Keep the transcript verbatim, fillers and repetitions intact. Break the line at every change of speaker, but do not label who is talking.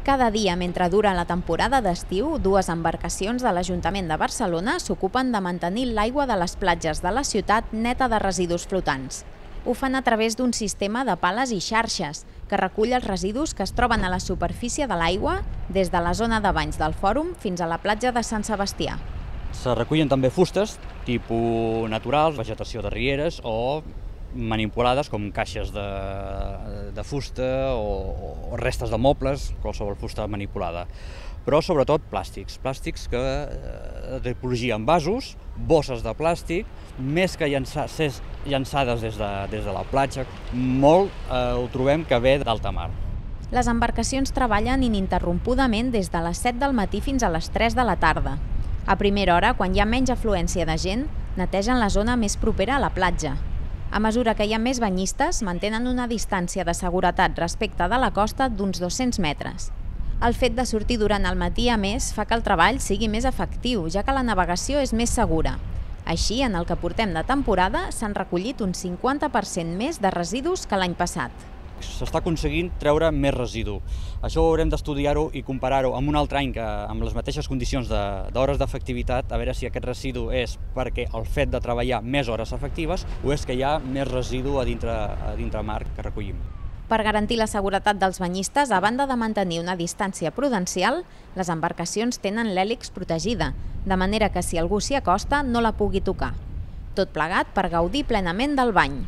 Cada dia, mentre dura la temporada d'estiu, dues embarcacions de l'Ajuntament de Barcelona s'ocupen de mantenir l'aigua de les platges de la ciutat neta de residus flotants. Ho fan a través d'un sistema de pales i xarxes que recull els residus que es troben a la superfície de l'aigua des de la zona de banys del Fòrum fins a la platja de Sant Sebastià.
Se recullen també fustes, tipus naturals, vegetació de rieres o manipulades com caixes de, de fusta o, o restes de mobles, qualsevol fusta manipulada. Però sobretot plàstics, plàstics que de tipologia en vasos, bosses de plàstic, més que llançar, ser llançades des de, des de la platja, molt eh, ho trobem que ve d'alta mar.
Les embarcacions treballen ininterrompudament des de les set del matí fins a les tres de la tarda. A primera hora, quan hi ha menys afluència de gent, netegen la zona més propera a la platja. A mesura que hi ha més banyistes, mantenen una distància de seguretat respecte de la costa d'uns dos-cents metres. El fet de sortir durant el matí, a més, fa que el treball sigui més efectiu, ja que la navegació és més segura. Així, en el que portem de temporada, s'han recollit un cinquanta per cent més de residus que l'any passat.
S'està aconseguint treure més residu. Això ho haurem d'estudiar-ho i comparar-ho amb un altre any que amb les mateixes condicions d'hores d'efectivitat, a veure si aquest residu és perquè el fet de treballar més hores efectives o és que hi ha més residu a dintre, a dintre mar que recollim.
Per garantir la seguretat dels banyistes, a banda de mantenir una distància prudencial, les embarcacions tenen l'hèlix protegida, de manera que si algú s'hi acosta no la pugui tocar. Tot plegat per gaudir plenament del bany.